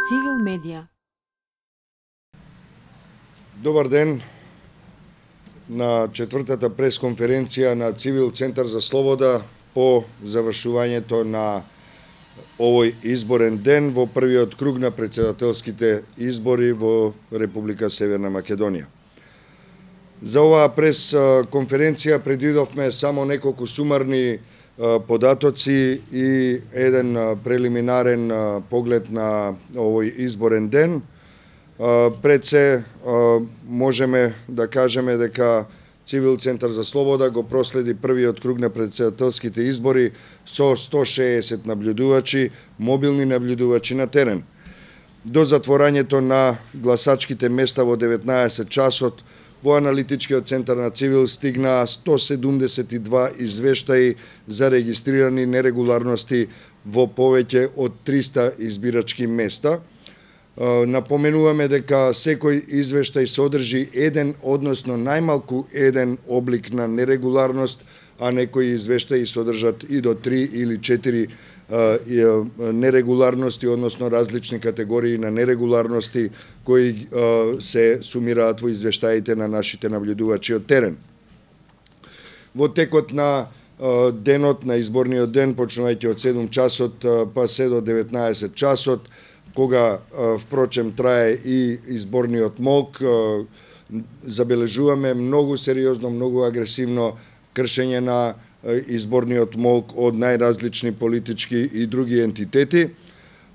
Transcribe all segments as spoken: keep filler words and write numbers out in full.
Цивил медија. Добар ден на четвртата пресконференција на Цивил Центар за слобода по завршувањето на овој изборен ден во првиот круг на претседателските избори во Република Северна Македонија. За оваа пресконференција предвидовме само неколку сумарни податоци и еден прелиминарен поглед на овој изборен ден. Пред се можеме да кажеме дека Цивил Центар за слобода го проследи првиот круг на претседателските избори со сто шеесет наблюдувачи, мобилни наблюдувачи на терен. До затворањето на гласачките места во деветнаесет часот, во аналитичкиот центар на Цивил стигнаа сто седумдесет и два извештаи за регистрирани нерегуларности во повеќе од триста избирачки места. Напоменуваме дека секој извештај содржи еден, односно најмалку еден облик на нерегуларност, а некои извештаи содржат и до три или четири нерегуларности, односно различни категории на нерегуларности кои се сумираат во извештаите на нашите наблюдувачи од терен. Во текот на денот, на изборниот ден, почнувајќи од седум часот па се до деветнаесет часот, кога впрочем трае и изборниот молк, забележуваме многу сериозно, многу агресивно кршење на изборниот молк од најразлични политички и други ентитети.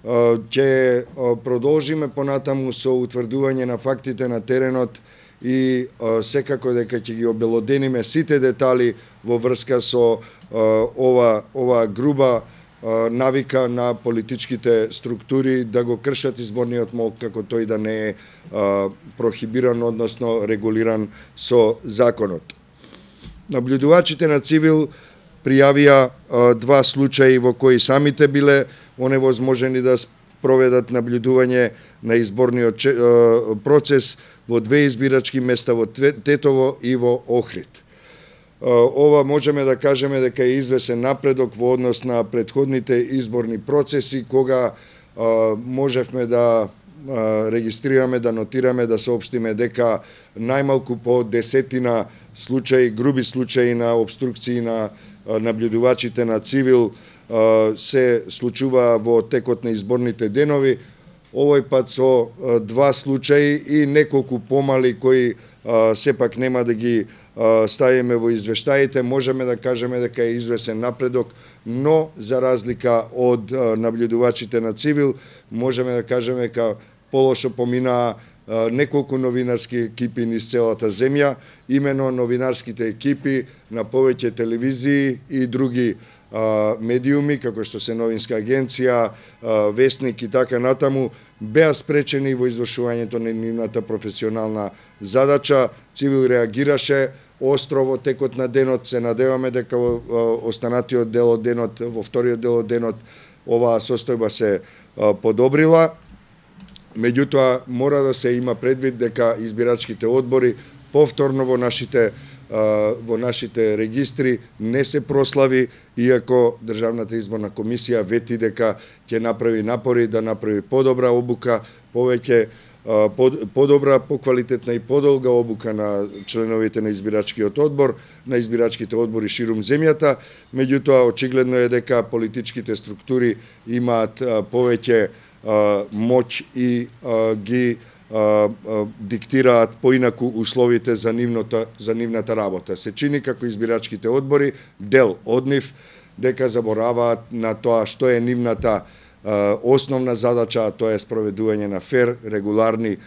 Ќе продолжиме понатаму со утврдување на фактите на теренот и секако дека ќе ги обелодениме сите детали во врска со ова ова груба навика на политичките структури да го кршат изборниот молк како тој да не е прохибиран, односно регулиран со законот. Наблюдувачите на Цивил пријавија два случаи во кои самите биле оневозможени да проведат наблюдување на изборниот процес во две избирачки места во Тетово и во Охрид. Ова можеме да кажеме дека е извесен напредок во однос на претходните изборни процеси, кога можевме да регистрираме, да нотираме, да соопштиме дека најмалку по десетина случаи, груби случаи на обструкции на наблюдувачите на Цивил се случува во текот на изборните денови. Овој пат со два случаи и неколку помали кои сепак нема да ги ставиме во извештаите, можеме да кажеме дека е извесен напредок, но за разлика од наблюдувачите на Цивил, можеме да кажеме дека полошо поминаа неколку новинарски екипи низ целата земја, имено новинарските екипи на повеќе телевизии и други медиуми, како што се Новинска агенција, Весник и така натаму, беа спречени во извршувањето на нивната професионална задача. Цивил реагираше остро во текот на денот. Се надеваме дека во останатиот дел од денот, во вториот дел од денот, оваа состојба се подобрила. Меѓутоа, мора да се има предвид дека избирачките одбори повторно во нашите во нашите регистри не се прослави, иако Државната изборна комисија вети дека ќе направи напори да направи подобра обука, повеќе подобра, поквалитетна и подолга обука на членовите на избирачкиот одбор, на избирачките одбори ширум земјата. Меѓутоа, очигледно е дека политичките структури имаат повеќе моќ и ги диктираат поинаку условите за нивната за нивната работа. Се чини како избирачките одбори, дел од нив, дека забораваат на тоа што е нивната основна задача, а тоа е спроведување на фер, регуларни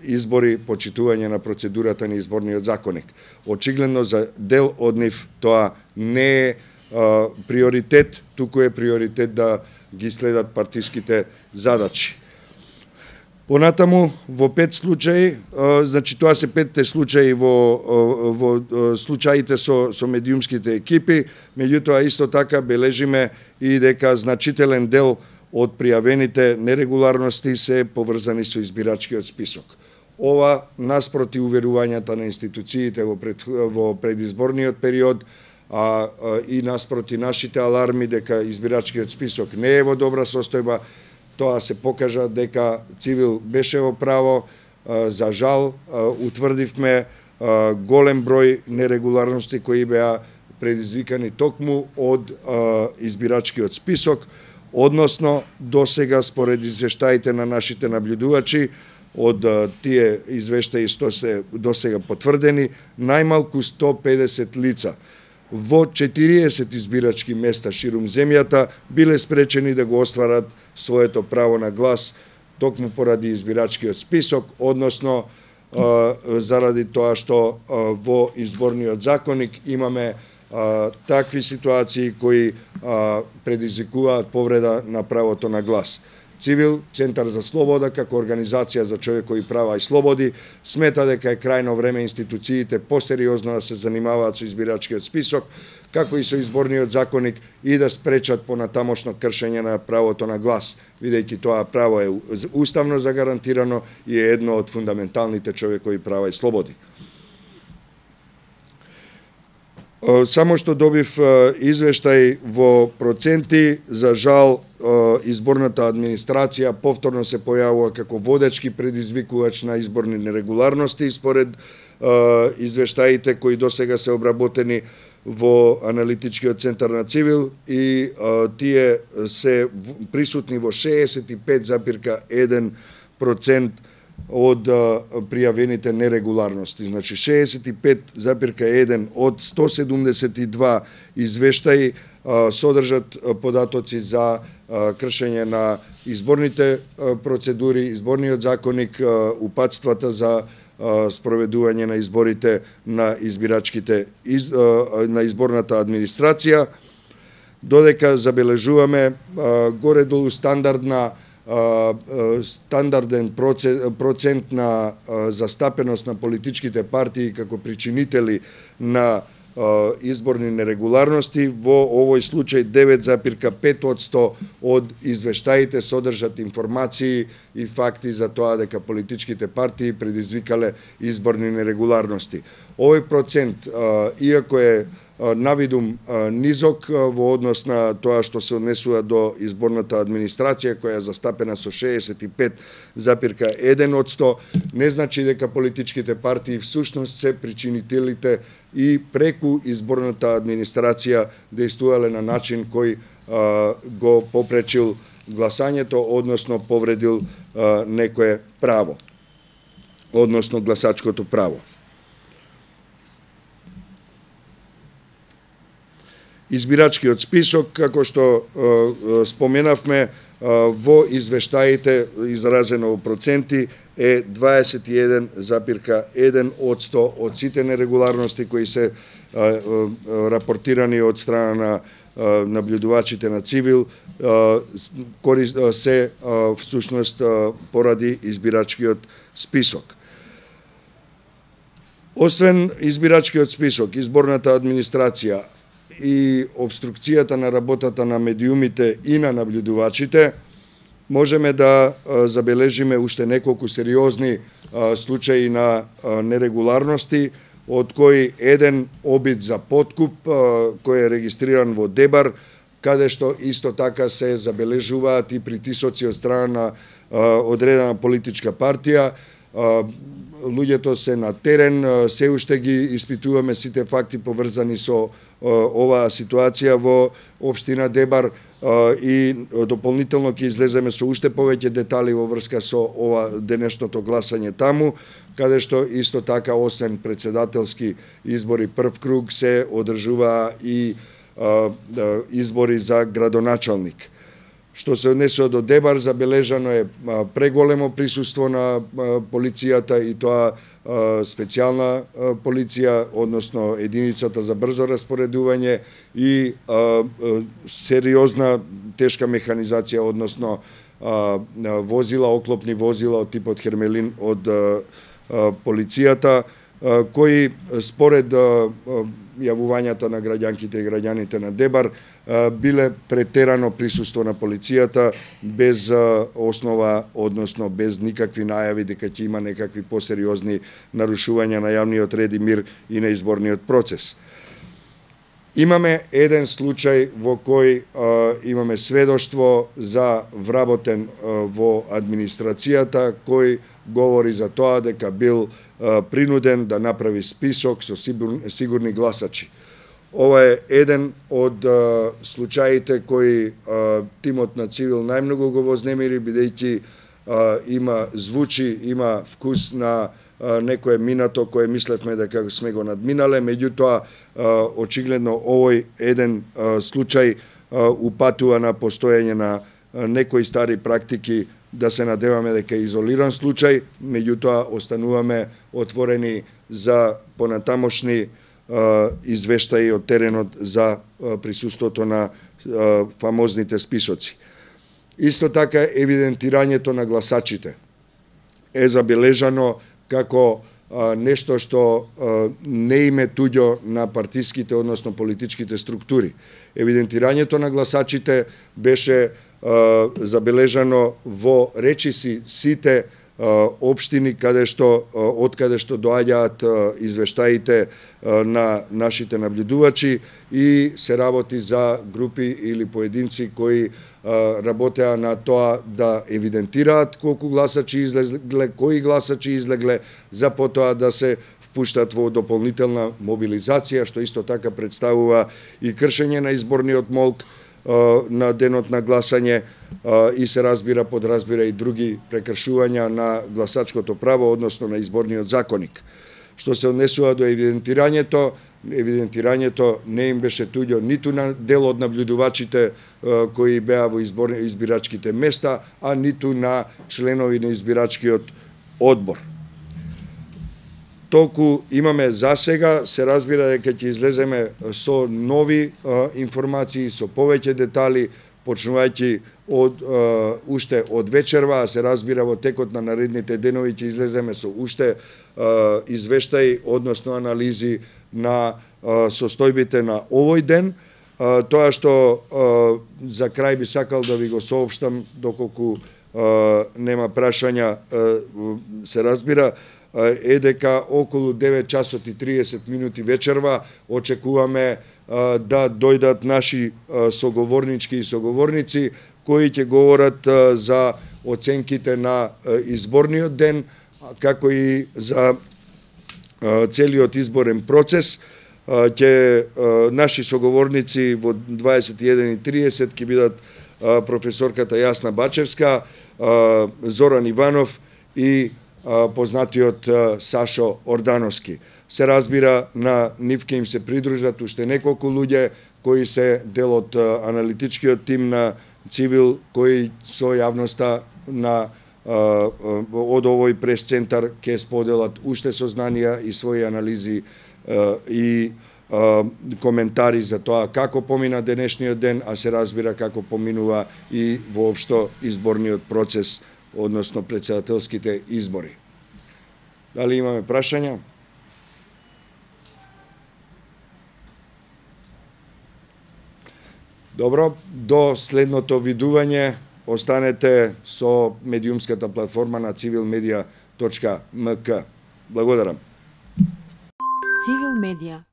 избори, почитување на процедурата на изборниот законник. Очигледно за дел од нив тоа не е приоритет, туку е приоритет да ги следат партиските задачи. Понатаму, во пет случаи, значи тоа се петте случаи во, во случаите со, со медиумските екипи, меѓутоа исто така бележиме и дека значителен дел од пријавените нерегуларности се поврзани со избирачкиот список. Ова наспроти уверувањата на институциите во, пред, во предизборниот период, а, а и наспроти нашите аларми дека избирачкиот список не е во добра состојба, тоа се покажа дека Цивил беше во право. За жал, утврдивме голем број нерегуларности кои беа предизвикани токму од избирачкиот список, односно досега според извештаите на нашите наблюдувачи, од тие извештаи што се досега потврдени, најмалку сто педесет лица во четириесет избирачки места ширум земјата биле спречени да го остварат своето право на глас токму поради избирачкиот список, односно заради тоа што во изборниот законник имаме такви ситуации кои предизвикуваат повреда на правото на глас. Цивил, Центар за слобода, како организација за човекови права и слободи, смета дека е крајно време институциите посериозно да се занимаваат со избирачкиот список, како и со изборниот законник и да спречат понатамошно кршење на правото на глас, бидејќи тоа право е уставно загарантирано и е едно од фундаменталните човекови права и слободи. Само што добив извештај во проценти, за жал изборната администрација повторно се појавува како водечки предизвикувач на изборни нерегуларности според извештаите кои досега се обработени во аналитичкиот центар на Цивил и тие се присутни во шеесет и пет запирка еден процент од пријавените нерегуларности. Значи шеесет и пет запирка еден од сто седумдесет и два извештаи содржат податоци за кршење на изборните процедури, изборниот законник, упатствата за спроведување на изборите на избирачките на изборната администрација, додека забележуваме горе-долу стандардна стандарден процент на застапеност на политичките партии како причинители на изборни нерегуларности. Во овој случај девет запирка пет одсто од извештаите содржат информации и факти за тоа дека политичките партии предизвикале изборни нерегуларности. Овој процент, иако е навидум низок во однос на тоа што се однесува до изборната администрација, која е застапена со шеесет и пет запирка еден одсто, не значи дека политичките партии всушност се причинителите и преку изборната администрација дејствувале на начин кој а, го попречил гласањето, односно повредил а, некое право, односно гласачкото право. Избирачкиот список, како што е, споменавме, е, во извештаите изразено во проценти е дваесет и еден запирка еден одсто од сите нерегуларности кои се е, е, рапортирани од страна на е, наблюдувачите на Цивил, е, се е, всушност е, поради избирачкиот список. Освен избирачкиот список, изборната администрација и обструкцијата на работата на медиумите и на наблюдувачите, можеме да забележиме уште неколку сериозни случаи на нерегуларности, од кои еден обид за подкуп кој е регистриран во Дебар, каде што исто така се забележуваат и притисоци од страна на одредена политичка партија. Луѓето се на терен, се уште ги испитуваме сите факти поврзани со оваа ситуација во општина Дебар и дополнително ќе излеземе со уште повеќе детали во врска со ова денешното гласање таму, каде што исто така освен председателски избори прв круг се одржуваа и избори за градоначалник. Што се однесува до Дебар, забележано е преголемо присуство на полицијата и тоа специјална полиција, односно единицата за брзо распоредување и сериозна тешка механизација, односно возила, оклопни возила од типот Хермелин од полицијата, кои според јавувањата на граѓанките и граѓаните на Дебар биле претерано присуство на полицијата без основа, односно без никакви најави дека ќе има некакви посериозни нарушувања на јавниот ред и мир и на изборниот процес. Имаме еден случај во кој а, имаме сведоштво за вработен а, во администрацијата, кој говори за тоа дека бил а, принуден да направи список со сигурни, сигурни гласачи. Ова е еден од а, случаите кои а, тимот на Цивил најмногу го вознемири, бидејќи а, има звучи, има вкус на некое минато кое мислевме дека сме го надминале, меѓутоа очигледно овој еден случај упатува на постоење на некои стари практики, да се надеваме дека е изолиран случај, меѓутоа остануваме отворени за понатамошни извештаи од теренот за присуството на фамозните списоци. Исто така евидентирањето на гласачите е забележано како а, нешто што а, не име туѓо на партиските, односно политичките структури. Евидентирањето на гласачите беше а, забележано во речиси сите а, општини каде што а, од каде што доаѓаат а, извештаите а, на нашите наблюдувачи и се работи за групи или поединци кои работеа на тоа да евидентираат колку гласачи излегле, кои гласачи излегле, за потоа да се впуштат во дополнителна мобилизација, што исто така представува и кршење на изборниот молк на денот на гласање и се разбира, подразбира и други прекршувања на гласачкото право, односно на изборниот законник. Што се однесува до евидентирањето, евидентирањето не им беше туѓо ниту на дел од наблюдувачите кои беа во изборни, избирачките места, а ниту на членови на избирачкиот одбор. Толку имаме за сега, се разбира дека ќе излеземе со нови а, информации, со повеќе детали, почнувајќи од а, уште од вечерва, а се разбира во текот на наредните денови ќе излеземе со уште а, извештаи, односно анализи на а, состојбите на овој ден. А, тоа што а, за крај би сакал да ви го соопштам, доколку а, нема прашања, а, се разбира, е дека околу девет часот и триесет минути вечерва очекуваме а, да дојдат наши а, соговорнички и соговорници кои ќе говорат а, за оценките на а, изборниот ден, како и за а, целиот изборен процес. А, ќе а, наши соговорници во дваесет и еден и триесет ќе бидат а, професорката Јасна Бачевска, а, Зоран Иванов и познатиот Сашо Ордановски. Се разбира, на нив ќе им се придружат уште неколку луѓе кои се дел од аналитичкиот тим на Цивил, кои со јавноста на од овој прес-центар ќе споделат уште сознанија и своји анализи и коментари за тоа како помина денешниот ден, а се разбира како поминува и воопшто изборниот процес, односно председателските избори. Дали имаме прашања? Добро, до следното видување останете со медиумската платформа на цивил медија точка ем ка. Благодарам. Цивил медија.